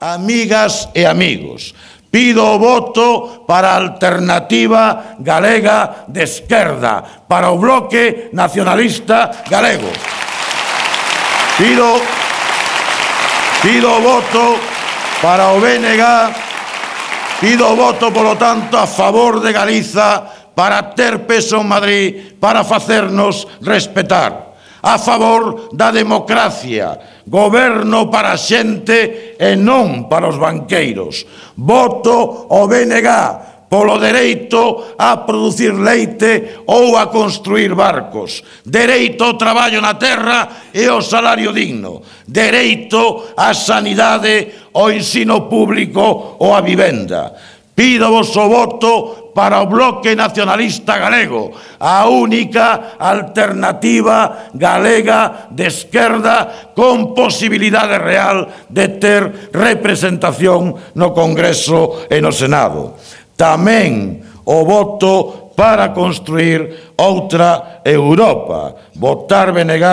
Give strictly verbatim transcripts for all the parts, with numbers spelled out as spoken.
amigas e amigos, pido o voto para a Alternativa Galega de Esquerda, para o Bloque Nacionalista Galego. Pido, pido o voto para o B N G, pido o voto, polo tanto, a favor de Galiza para ter peso en Madrid, para facernos respetar. A favor da democracia, goberno para a xente e non para os banqueiros. Voto o B N G polo dereito a producir leite ou a construir barcos. Dereito ao traballo na terra e ao salario digno. Dereito á sanidade, ao ensino público ou á vivenda. Pídovos o voto para o Bloque Nacionalista Galego, a única alternativa galega de esquerda con posibilidade real de ter representación no Congreso e no Senado. Tamén o voto para construir outra Europa. Votar B N G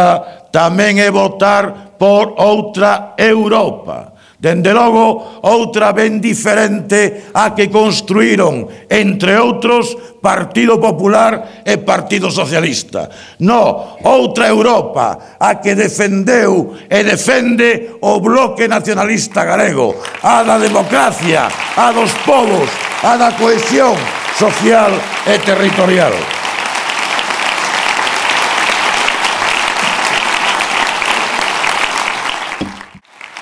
tamén é votar por outra Europa. Dende logo, outra ben diferente a que construíron, entre outros, Partido Popular e Partido Socialista. No, outra Europa a que defendeu e defende o Bloque Nacionalista Galego, a da democracia, a dos povos, a da cohesión social e territorial.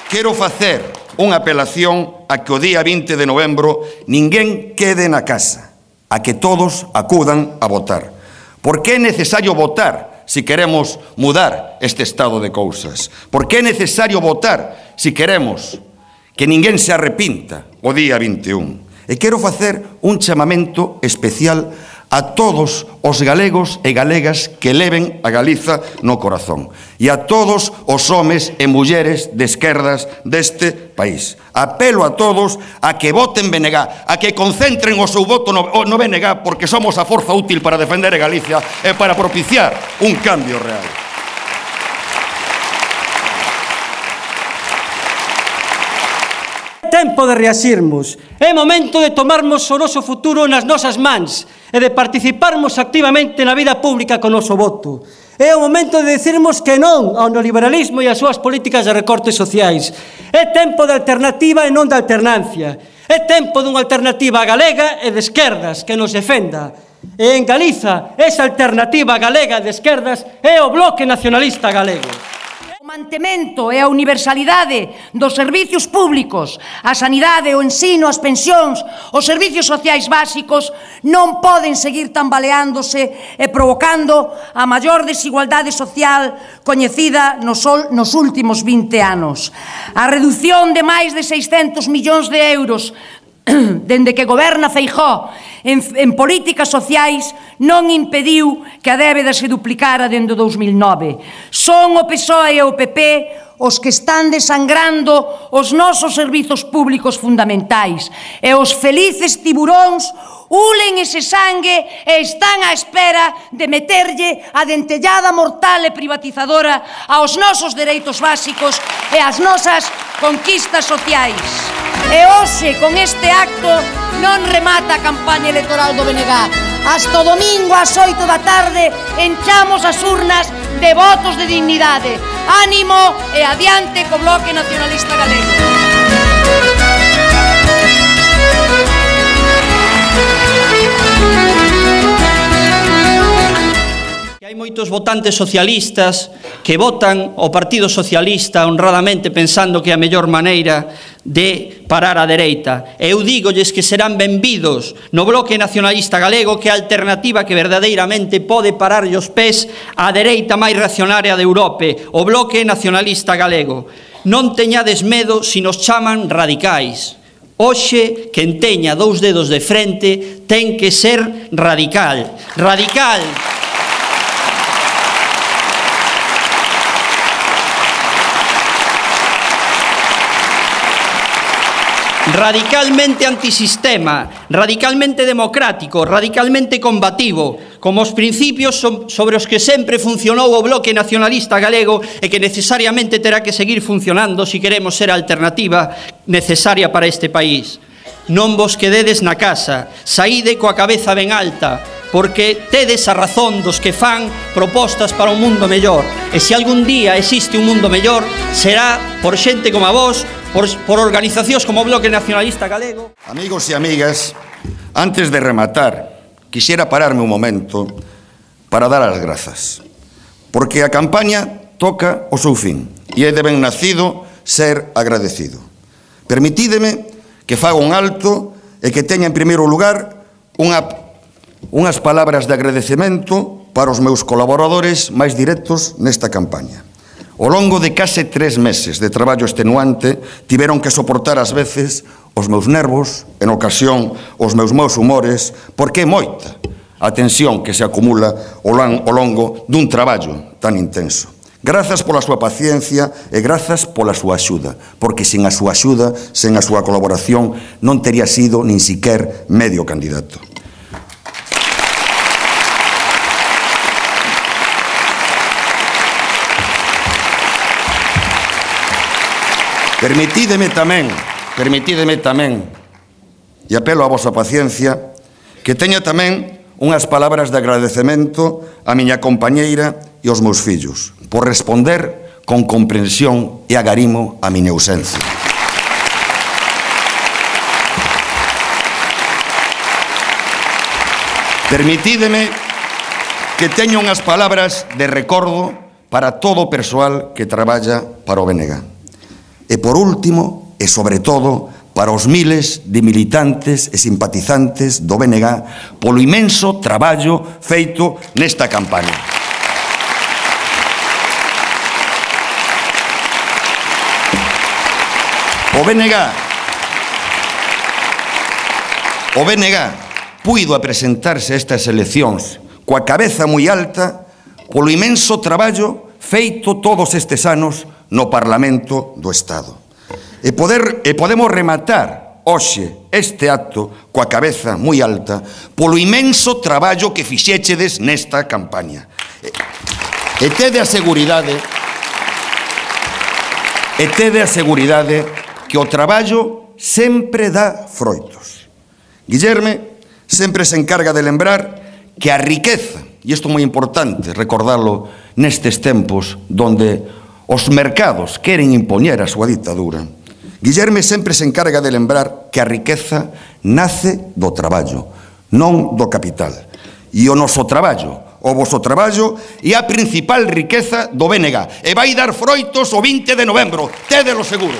Quero facer unha apelación a que o día vinte de novembro ninguén quede na casa, a que todos acudan a votar. Porque é necesario votar se queremos mudar este estado de cousas. Porque é necesario votar se queremos que ninguén se arrepinta o día vinte e un. E quero facer un chamamento especial a todos os galegos e galegas que leven a Galiza no corazón e a todos os homes e mulleres de esquerdas deste país. Apelo a todos a que voten B N G, a que concentren o seu voto no, no B N G, porque somos a forza útil para defender a Galicia e para propiciar un cambio real. Tempo de reasirmos. É momento de tomarmos o noso futuro nas nosas mans e de participarmos activamente na vida pública co noso voto. É o momento de dicirmos que non ao neoliberalismo e ás súas políticas de recortes sociais. É tempo de alternativa e non de alternancia. É tempo dunha alternativa galega e de esquerdas que nos defenda. E en Galiza, esa alternativa galega de esquerdas é o Bloque Nacionalista Galego. O mantemento e a universalidade dos servicios públicos, a sanidade, o ensino, as pensións, os servicios sociais básicos non poden seguir tambaleándose e provocando a maior desigualdade social coñecida nos, nos últimos vinte anos. A reducción de máis de seiscentos millóns de euros dende que goberna Feijóo en, en políticas sociais non impediu que a débeda se duplicara dende o dous mil nove. Son o P S O E e o P P os que están desangrando os nosos servizos públicos fundamentais e os felices tiburóns ulen ese sangue e están á espera de meterlle a dentellada mortal e privatizadora aos nosos dereitos básicos e ás nosas conquistas sociais. E hoxe, con este acto, non remata a campaña electoral do B N G. Hasta o domingo ás oito da tarde enchamos as urnas de votos de dignidade. Ánimo e adiante co Bloque Nacionalista Galego. Hai moitos votantes socialistas que votan o Partido Socialista honradamente pensando que é a mellor maneira de parar a dereita. Eu dígolles que serán benvidos no Bloque Nacionalista Galego, que é a alternativa que verdadeiramente pode parar os pés á dereita máis reaccionaria de Europa, o Bloque Nacionalista Galego. Non teñades medo se nos chaman radicais. Hoxe, quen teña dous dedos de frente ten que ser radical. Radical. Radicalmente antisistema, radicalmente democrático, radicalmente combativo, como os principios sobre os que sempre funcionou o Bloque Nacionalista Galego e que necesariamente terá que seguir funcionando se queremos ser a alternativa necesaria para este país. Non vos quededes na casa, saíde coa cabeza ben alta, porque tedes a razón dos que fan propostas para un mundo mellor. E se algún día existe un mundo mellor, será por xente como a vos, por, por organizacións como o Bloque Nacionalista Galego. Amigos e amigas, antes de rematar, quixera pararme un momento para dar as grazas, porque a campaña toca o seu fin e é de ben nacido ser agradecido. Permitídeme que faga un alto e que teña en primeiro lugar unha, unhas palabras de agradecemento para os meus colaboradores máis directos nesta campaña. Ao longo de case tres meses de traballo extenuante, tiveron que soportar ás veces os meus nervos, en ocasión os meus maus humores, porque é moita a tensión que se acumula ao longo dun traballo tan intenso. Grazas pola súa paciencia e grazas pola súa axuda, porque sen a súa axuda, sen a súa colaboración, non tería sido nin siquer medio candidato. Permitídeme tamén, permitídeme tamén, e apelo a vosa paciencia, que teña tamén unhas palabras de agradecemento á miña compañeira e aos meus fillos, por responder con comprensión e agarimo a miña ausencia. Permitídeme que teña unhas palabras de recordo para todo o persoal que traballa para o B N G. E por último, e sobre todo, para os miles de militantes e simpatizantes do B N G polo imenso traballo feito nesta campaña. O B N G o B N G puido a presentarse a estas eleccións coa cabeza moi alta polo imenso traballo feito todos estes anos no Parlamento do Estado. E, poder, e podemos rematar hoxe este acto coa cabeza moi alta polo imenso traballo que fixéchedes nesta campaña. E, e tede a seguridade e tede a seguridade que o traballo sempre dá froitos. Guillerme sempre se encarga de lembrar que a riqueza, e isto é moi importante recordarlo nestes tempos donde os mercados queren impoñer a súa ditadura, Guillerme sempre se encarga de lembrar que a riqueza nace do traballo, non do capital. E o noso traballo, o voso traballo, é a principal riqueza do B N G e vai dar froitos o vinte de novembro, tédelo seguro.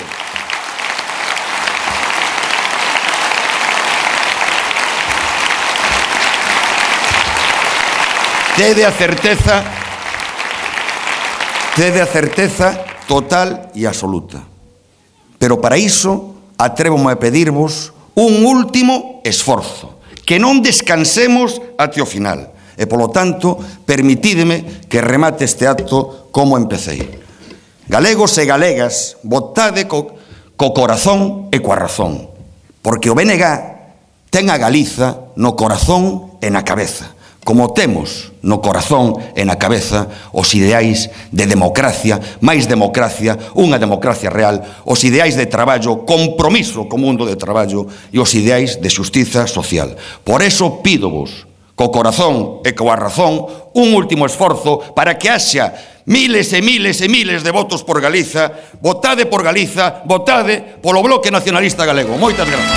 Tede a certeza, tede a certeza total e absoluta. Pero para iso, atrévome a pedirvos un último esforzo, que non descansemos até o final. E, polo tanto, permitídeme que remate este acto como empecéi. Galegos e galegas, votade co, co corazón e coa razón, porque o B N G ten a Galiza no corazón e na cabeza, como temos no corazón e na cabeza os ideais de democracia, máis democracia, unha democracia real, os ideais de traballo, compromiso co mundo de traballo e os ideais de xustiza social. Por eso pídovos, co corazón e coa razón, un último esforzo para que haxa miles e miles e miles de votos por Galiza. Votade por Galiza, votade polo Bloque Nacionalista Galego. Moitas grazas.